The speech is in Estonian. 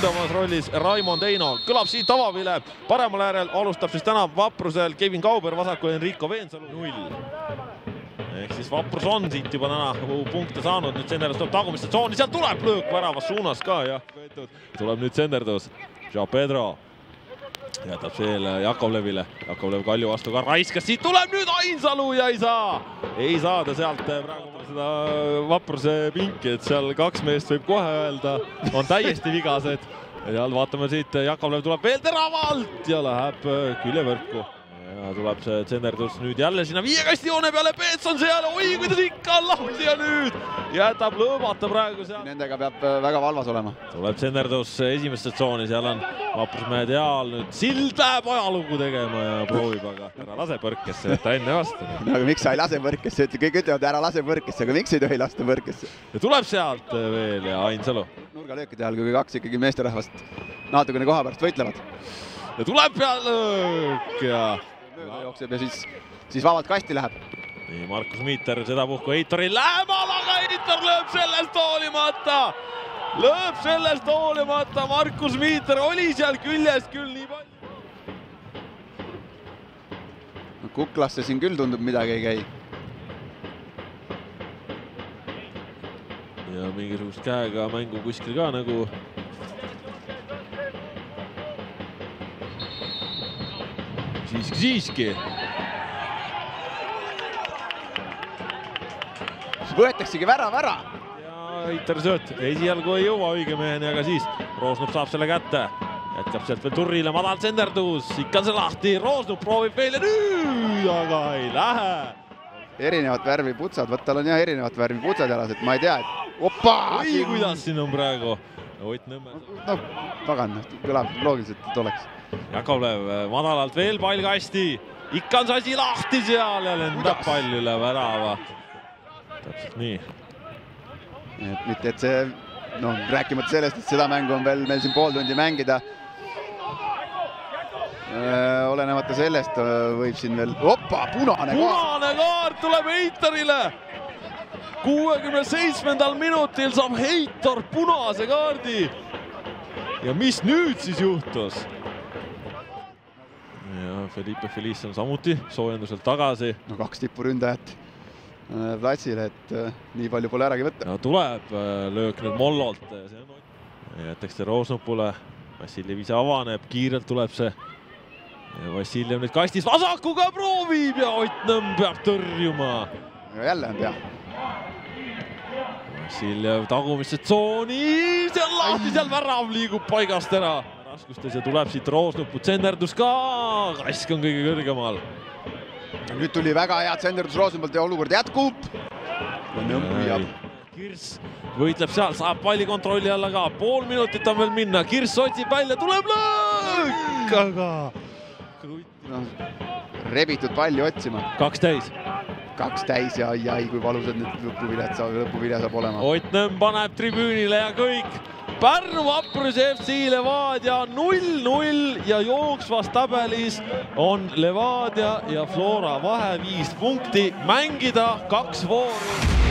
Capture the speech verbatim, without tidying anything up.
ründamas rollis Raimond Eino. Kõlab siit avavile paremal äärel, alustab siis täna Vaprusel Kevin Kauber, vasakul Enrico Veensalu null. Ehk siis Vaprus on siit juba täna punkte saanud, nüüd Senderdus tuleb tagumiste tsooni, seal tuleb löök väravas suunas ka ja tuleb nüüd Senderdus. Jean Pedro jätab veel Jakovlevile, Jakovlev Kalju vastu ka raiskas, siit tuleb nüüd Ainsalu ja ei saa, ei saa ta sealt praegu seda Vapruse pinki, et seal kaks meest võib kohe öelda, on täiesti vigased. Ja vaatame siit, Jakovlev tuleb veel teravalt ja läheb küljevõrku. Ja tuleb see Senderdus nüüd jälle sinna viiekasti joone peale, Peetson seal, oi kuidas ikka on lahti ja nüüd jätab lõõmata praegu seal. Nendega peab väga valvas olema. Tuleb Senderdus esimesse tsooni, seal on Vaprusmehed jaal, nüüd Sild läheb ajalugu tegema ja proovib, aga ära lase põrkesse, et ta enne vastu. No aga miks sa ei lase põrkesse, kõik ütlevad ära lase põrkesse, aga miks ei tohi lasta põrkesse? Ja tuleb sealt veel ja Ainsalu. Nurgalöökide ajal, kui kaks ikkagi meesterahvast natukene koha pärast võitlevad. Ja tuleb peal lõök ja jookseb ja siis, siis vabalt kasti läheb. Nii, Markus Miiter seda puhku Heitori lähemal, aga Heitor lööb sellest hoolimata. Lööb sellest hoolimata, Markus Miiter oli seal küljest küll nii palju. No, kuklasse siin küll tundub midagi ei käi. Ja mingisugust käega mängu kuskil ka nagu siiski, siiski. Võetaksegi värav ära. Ja Heitor sööt, esialgu ei jõua õige meheni, aga siis Roosnup saab selle kätte. Jätkab sealt veel Turrile, madal Senderdus, ikka on see lahti, Roosnup proovib veel ja nüüd, aga ei lähe. Erinevat värvi putsad, võt tal on jah erinevat värvi putsad jalas, et ma ei tea, et opa! Oi, kuidas siin on praegu Ott Nõmme. No, pagan, kõlab loogiliselt, et oleks. Jakovlev madalalt veel pall kasti, ikka on see asi lahti seal ja lendab pall üle värava. Täpselt nii. Et mitte, et see, no rääkimata sellest, et seda mängu on veel meil siin pool tundi mängida. Olenemata sellest võib siin veel, opa, punane kaart. Punane kaart tuleb Heitorile. kuuekümne seitsmendal minutil saab Heitor punase kaardi. Ja mis nüüd siis juhtus? Ja Felipe Feliz on samuti soojenduselt tagasi. No kaks tippuründajat platsile, et nii palju pole äragi võtta. Ja tuleb löök nüüd Mollolt. Jätaks see Roosnupule. Vassiljev ise avaneb, kiirelt tuleb see. Ja Vassiljev nüüd kastis vasakuga proovib ja Ott Nõmm peab tõrjuma. Ja jälle on pea. Vassiljev tagumisse tsooni, seal lahti, seal värav liigub paigast ära. Raskustes ja tuleb siit Roosnuput, Senderdus ka, Kask on kõige kõrgemal. Nüüd tuli väga head Senderdus Roosnupult ja olukord jätkub. Kirs võitleb seal, saab palli kontrolli alla ka, pool minutit on veel minna, Kirs otsib välja, tuleb lõõk, aga no, rebitud palli otsima. Kaks täis. Kaks täis ja ai, kui valusad nüüd lõpuvilja saab olema. Ott Nõmm paneb tribüünile ja kõik. Pärnu Vapruse F C Levadia null null ja jooksvas tabelis on Levadia ja Flora vahe viis punkti. Mängida kaks vooru.